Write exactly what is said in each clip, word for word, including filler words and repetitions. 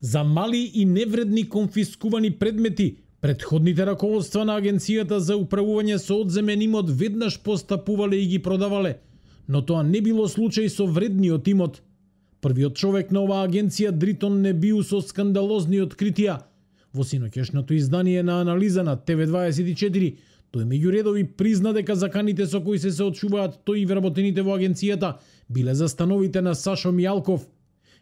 За мали и невредни конфискувани предмети, претходните раководства на Агенцијата за управување со одземен имот веднаш постапувале и ги продавале, но тоа не било случај со вредниот имот. Првиот човек на оваа агенција, Дритон, не бил со скандалозни откритија. Во синоќешното издание на анализа на Т В дваесет и четири, тој меѓу редови призна дека заканите со кои се се одчуваат тој и вработените во агенцијата биле за становите на Сашо Мијалков.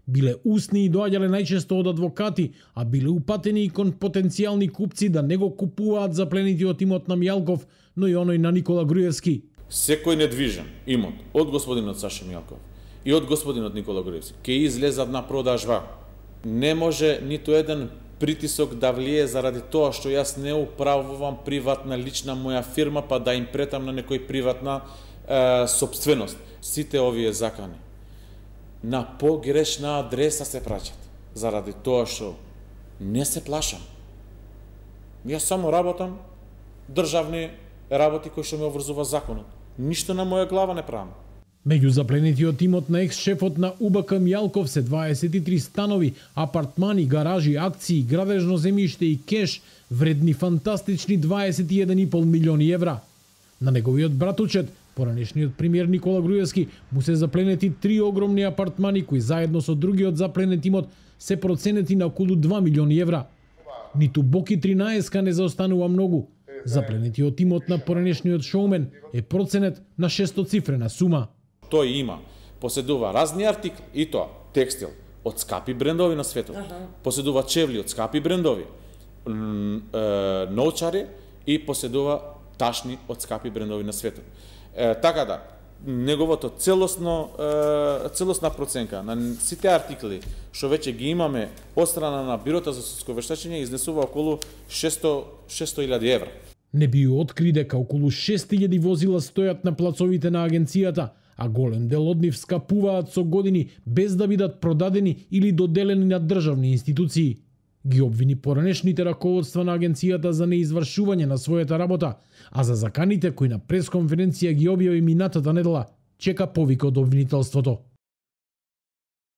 Биле устни и доаѓале најчесто од адвокати, а биле упатени и кон потенцијални купци да не го купуваат запленитиот имот на Мијалков, но и оној на Никола Груевски. Секој недвижен имот од господинот Сашо Мијалков и од господинот Никола Груевски ќе излезат на продажба. Не може ниту еден притисок да влие заради тоа што јас не управувам приватна лична моја фирма, па да им претам на некој приватна е, собственост. Сите овие закани на погрешна адреса се праќат, заради тоа што не се плашам. Јас само работам државни работи кои што ме обврзува законот. Ништо на моја глава не правам. Меѓу запленетиот имот на екс-шефот на У Б К Мијалков се дваесет и три станови, апартмани, гаражи, акции, градежно земјиште и кеш, вредни фантастични дваесет и еден и пол милиони евра. На неговиот братучет, поранешниот премиер Никола Груевски, му се запленети три огромни апартмани кои заедно со другиот запленет имот се проценети на околу два милиони евра. Ниту Боки тринаесетка не заостанува многу. Запленетиот имот на поранешниот шоумен е проценет на шестоцифрена сума. Тој има, поседува разни артикли, и тоа текстил од скапи брендови на светот, ага. Поседува чевли од скапи брендови, ноучари и поседува ташни од скапи брендови на светот. Е, така да, неговото целосно, е, целосна проценка на сите артикли што веќе ги имаме од страна на Бирото за судско вештачење изнесува околу шесто илјади евра. Не би откри дека околу шест илјади возила стојат на плацовите на агенцијата, а голем дел од нив скапуваат со години без да бидат продадени или доделени на државни институции. Ги обвини поранешните раководства на агенцијата за неизвршување на својата работа, а за заканите кои на пресконференција ги објави минатата недела, чека повик од обвинителството.